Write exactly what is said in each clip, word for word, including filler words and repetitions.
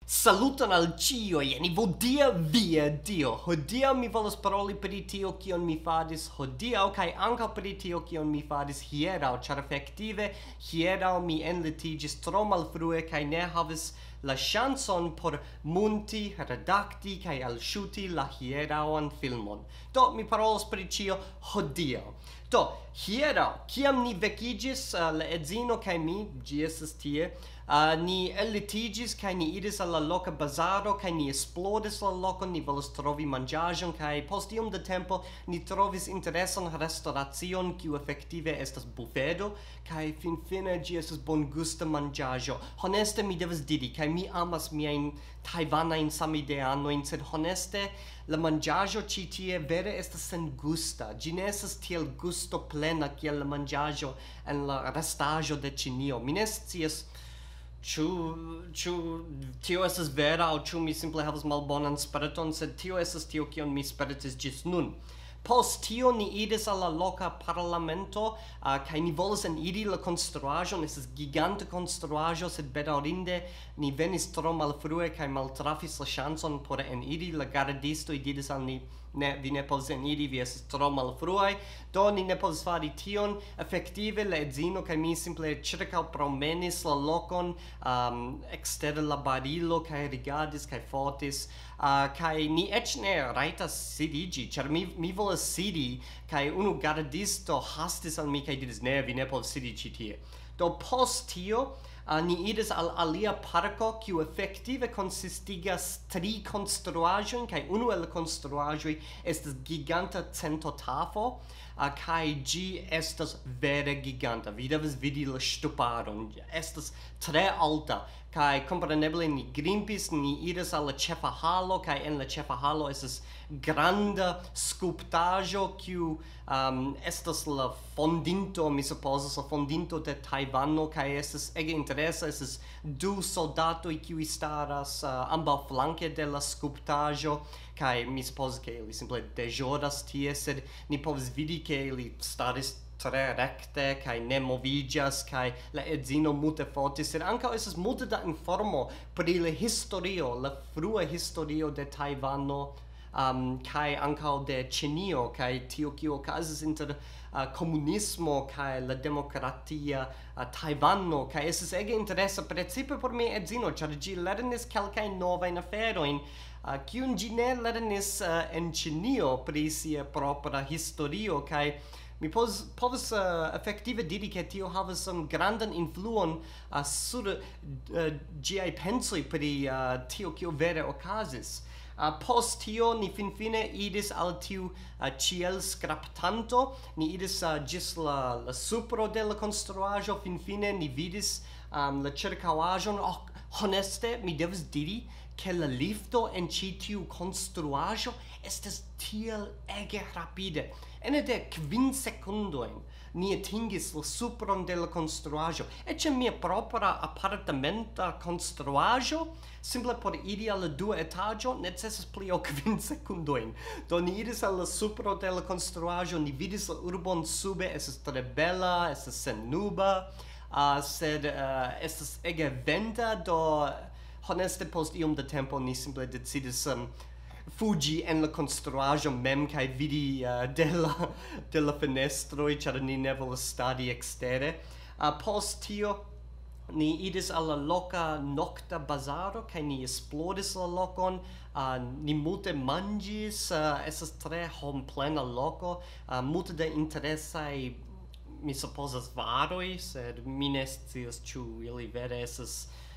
Saluton al ĉiuj, ni vodia via Dio. Hodiaŭ mi volas paroli pri tio, kion mi faris hodiaŭ, kaj ankaŭ pri tio, kion mi faris hieraŭ, ĉar efektive hieraŭ mi enlitiĝis tro malfrue kaj ne havis la ŝancon por munti, redakti kaj alŝuti la hieraŭan filmon. Do, mi parolos pri ĉio hodiaŭ. Do, hieraŭ, kiam ni vekiĝis, eh, la edzino kaj mi, ĝi estas tie, eh, ni ellitiĝis kaj ni iris al la loka bazaro kaj ni esploris la lokon, ni volis trovi manĝaĵon, kaj post iom da tempo ni trovis interesan restoracion, kiu efektive estas bufedo, kaj finfine ĝi estas bongusta manĝaĵo. Honeste, mi devas diri, kaj mi amas miajn tajvanajn samideanojn, sed honeste, la manĝaĵo ĉi tie vere estas sengusta. Ĝi ne estas tiel gustoplena kiel la manĝaĵo en la restaĵo de Ĉinio. Mi ne scias, ĉu, ĉu tio estas vera aŭ ĉu mi simple havas malbonan sperton, sed tio estas tio, kion mi spertis ĝis nun. Post tio ni iris al la loka parlamento, ah, kaj ni volis eniri la konstruaĵon. Estas giganta konstruaĵo, sed bedaŭrinde ni venis tro malfrue kaj maltrafis la ŝancon por eniri. La gardistoj diris al ni: "Ne, vi ne povas eniri, vi estas tro malfruaj." Do ni ne povis fari tion. Efektive, la edzino kaj mi simple ĉirkaŭpromenis la lokon, um, ekster la barilo, kaj rigardis kaj fotis. Uh, kaj ni eĉ ne rajtas sidiĝi, ĉar mi, mi volas sidi, kaj unu gardisto hastis al mi kaj diris: "Ne, vi ne povas sidi ĉi tie." Do post tio, uh, ni iris al alia parko, kiu efektive konsistigas tri konstruaĵojn, kaj unu el la konstruaĵoj estas giganta centotafo, uh, kaj ĝi estas vere giganta. Vi devas vidi la ŝtuparon. Ĝi estas tre alta, kaj kompreneble ni grimpis, ni iris al la ĉefa halo, kaj en la ĉefa halo estas granda skulptaĵo, kiu, um, estas la fondinto, mi supozas, la fondinto de Tajvano, kaj estas ege interesa, estas du soldatoj, kiuj staras, uh, ambaŭflanke de la skulptaĵo, kaj mi supozas, ke ili simple deĵoras tie, sed ni povas vidi, ke ili staris tre rekte kaj ne moviĝas, kaj la edzino multe fotis, sed ankaŭ estas multe da informo pri la historio, la frua historio de Tajvano, um, kaj ankaŭ de Ĉinio, kaj tio, kio okazis inter, uh, komunismo kaj la demokratia, uh, Tajvano, kaj estas ege interesa, precipe por mia edzino, ĉar ĝi lernis kelkajn novajn aferojn, uh, kiun ĝi ne lernis, uh, en Ĉinio pri sia propra historio, kaj mi povas, povas, uh, efektive diri, ke tio havas, um, grandan influon, uh, sur, uh, ĝiaj pensoj pri, uh, tio, kio vere okazis. Uh, post tio ni finfine iris al tiu, uh, ĉielskraptanto, ni iris, uh, ĝis la, la supro de la konstruaĵo, finfine ni vidis, um, la ĉirkaŭaĵon. Oh, honeste, mi devas diri, ke la lifto en ĉi tiu konstruaĵo estas tiel ege rapide. Ene de kvin sekundojn ni atingis la supron de la konstruaĵo. Eĉ en mia propra apartamenta konstruaĵo, simple por iri al la dua etaĝo, necesas pli ol kvin sekundojn. Do ni iris al la supro de la konstruaĵo, ni vidis la urbon sube, estas tre bela, estas sennuba, uh, sed, uh, estas ege venta, do honeste post iom da tempo ni simple decidis, um, fuĝi en la konstruaĵo mem kaj vidi, uh, de la, de la fenestroj, ĉar ni ne volas stadi ekstere. Uh, post tio ni iris al la loka nokta bazaro kaj ni esploris la lokon. Uh, ni multe manĝis, uh, estas tre homplena loko, uh, multe da interesaj, mi supozas, varoj, sed mi ne scias, ĉu ili vere estas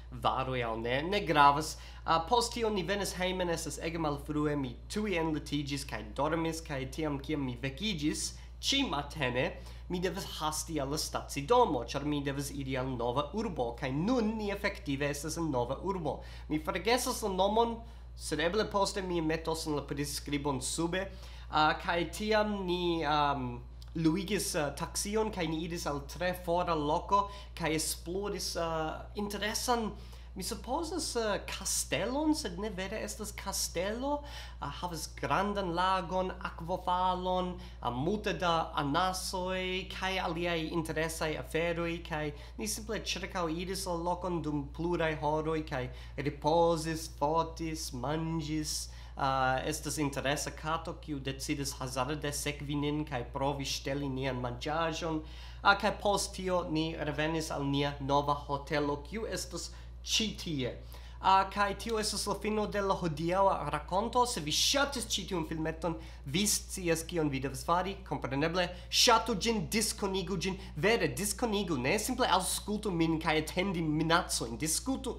varoj aŭ ne. Ne gravas. Uh, post tio ni venis hejmen, estas ege malfrue, mi tuj enlitiĝis kaj dormis, kaj tiam, kiam mi vekiĝis, ĉi matene, mi devas hasti al la stacidomo, ĉar mi devas iri al nova urbo, kaj nun ni efektive estas en nova urbo. Mi forgesas la nomon, sed eble poste mi metos en la priskribon sube. Uh, kaj tiam ni, um, luigis, uh, taksion, kaj ni iris al tre fora loko, kaj esploris, uh, interesan, Mi supozas uh, kastelon, sed ne vere estas kastelo. Uh, havas grandan lagon, akvofalon, uh, multe da anasoj kaj aliaj interesaj aferoj, kaj ni simple ĉirkaŭiris la lokon dum pluraj horoj kaj ripozis, fotis, manĝis. Uh, estas interesa kato, kiu decidis hazarde sekvi nin kaj provi ŝteli nian manĝaĵon. Uh, kaj post tio ni revenis al nia nova hotelo, kiu estas ĉi tie. Uh, kaj tio estas la fino de la hodiaŭa rakonto. Se vi ŝatis ĉi tiun filmeton, vi scias kion vi devas fari. Kompreneble, ŝatu ĝin, diskonigu ĝin. Vere, diskonigu, ne simple aŭskultu min kaj atendi minacojn. Diskutu,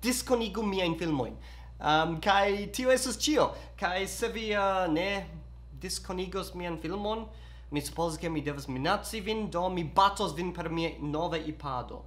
diskonigu miajn filmojn. Um, kaj tio estas ĉio. Kaj se vi uh, ne diskonigos mian filmon, mi supozas, ke mi devas minaci vin, do mi batos vin per mia nova ipado.